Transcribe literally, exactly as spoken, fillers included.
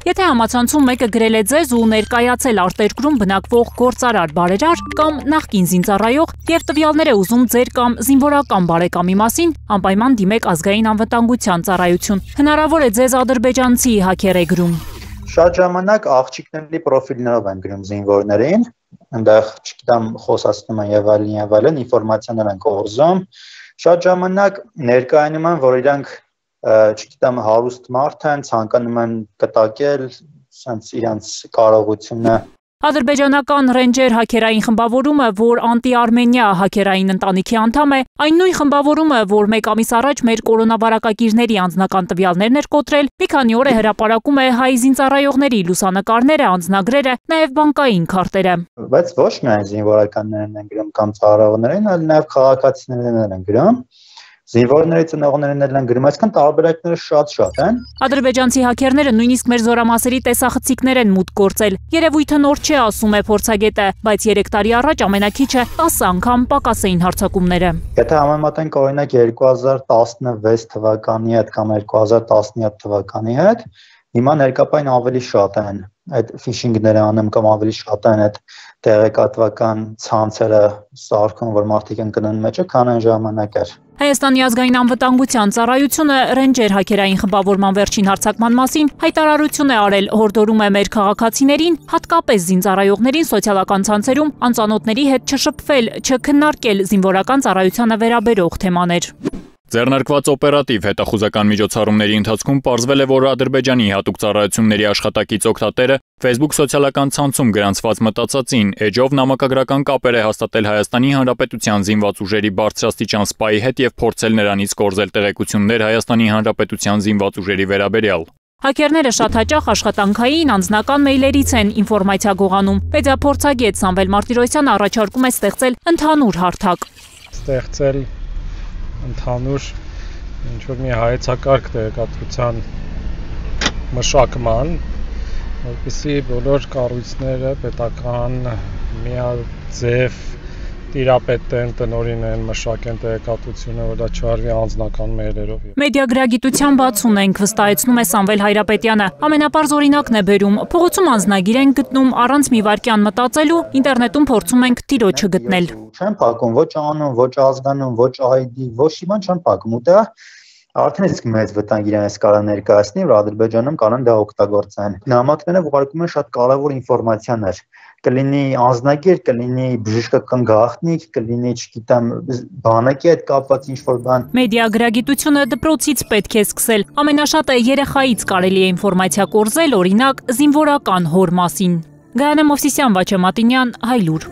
Եթե համացանցում մեկը գրել է ձեզ ու ներկայացել արտերկրում բնակվող գործարար բարերար կամ նախկին զինծառայող եւ տվյալներ է ուզում ձեր կամ զինվորական բարեկամի մասին, անպայման դիմեք ազգային անվտանգության ծառայություն։ Հնարավոր է ձեզ ադրբեջանցի հաքեր է գրում։ Շատ ժամանակ աղջիկների պրոֆիլներով են գրում զինվորներին, այնտեղ, չգիտեմ, խոսացնում են եւ այլն եւ այլն, ինֆորմացիաներ են կորզում։ Շատ ժամանակ ներկայանում են, որ իրանք չգիտեմ, հարուստ մարդ են, ցանկանում են կտակել, sense իրանց կարողությունը։ Ադրբեջանական Ռենջեր հաքերային խմբավորումը, որ անտի-արմենիա հաքերային ընտանիքի անդամ է, այն նույն խմբավորումը, որ մեկ ամիս առաջ մեր կորոնավարակագիրների անձնական տվյալներն էր կոտրել, մի քանի օր է հրապարակում է հայ զինծառայողների լուսանկարները, անձնագրերը, նաև բանկային քարտերը։ Բայց ոչ միայն զինվորականներն են գրում կամ ծառայողներին, այլ նաև քաղաքացիներն են գրում։ Զինվորների ծնողներն են գրում, այսքան տարբերակները շատ-շատ են։ Ադրբեջանցի հաքերները նույնիսկ մեր զորամասերի տեսախցիկներ են մուտք գործել։ Երևույթը նոր չէ, ասում է փորձագետը, բայց երեք տարի առաջ ամենաքիչը տասը անգամ պակաս էին հարձակումները։ Եթե համեմատենք օրինակ երկու հազար տասնվեց թվականի հետ կամ երկու հազար տասնյոթ թվականի հետ, հիմա ներկապային ավելի շատ են այդ ֆիշինգները անում կամ ավելի շատ են այդ տեղեկատվական ցանցերը սարքում, որ մարդիկ են գնում մեջը, քան այն ժամանակ էր։ Հայաստանի ազգային անվտանգության ծառայությունը Ռենջեր հաքերային խմբավորման վերջին հարձակման մասին հայտարարություն է արել, հորդորում է մեր քաղաքացիներին, հատկապես զինծառայողներին սոցիալական ցանցերում անծանոթների հետ չշփվել, չքննարկել զինվորական ծառայությանը վերաբերող թեմաներ։ Ձեռնարկված օպերատիվ հետախուզական միջոցառումների ընթացքում պարզվել է, որ Ադրբեջանի հատուկ ծառայությունների աշխատակից օգտատերը Facebook սոցիալական ցանցում գրանցված մտածածին էջով նամակագրական կապեր է հաստատել Հայաստանի Հանրապետության զինված ուժերի բարձրաստիճան սպայի հետ եւ փորձել նրանից կորզել տեղեկություններ Հայաստանի Հանրապետության զինված ուժերի վերաբերյալ։ Հաքերները շատ հաճախ աշխատանքային անձնական մեյլերից են ինֆորմացիա գողանում։ Մեդիափորձագետ Սամվել Մարտիրոսյանը առաջարկում է ստեղծել ընդհանուր հարթակ։ Ստեղծել ընդհանուր ինչ-որ մի հայեցակարգ տեղեկատվության մշակման, որպեսզի բոլոր կառույցները պետական միաձև տիրապետեն, տնօրինեն, մշակեն տեղեկատվությունը, որ դա չարվի անձնական մեյլերով։ Մեդիագրագիտության բացուն ենք, վստահեցնում է Սամվել Հայրապետյանը։ Ամենապարզ օրինակն է բերում։ Փողոցում անձնագիր են գտնում առանց մի վայրկյան մտածելու, ինտերնետում փորձում ենք տիրոջը գտնել։ Չեն փակում ոչ անուն, ոչ ազգանուն, ոչ այ դի, ոչ իման չեն փակում, ու դա արդեն իսկ մեծ վտանգ իրենց կարող ներկայացնի, որ Ադրբեջանում կանոն դա օգտագործեն։ Նամակները ուղարկում են շատ կարևոր ինֆորմացիաներ։ Կլինի անձնագիր, կլինի բժշկական գաղտնիք, կլինի, չգիտեմ, բանակի հետ կապված ինչ-որ բան։ Մեդիագրագիտությունը դպրոցից պետք է սկսել։ Ամենաշատը երեխայից կարելի է ինֆորմացիա կորզել, օրինակ, զինվորական հոր մասին։ Գայանե Մովսիսյան, Վաչե Մատինյան, Հայլուր։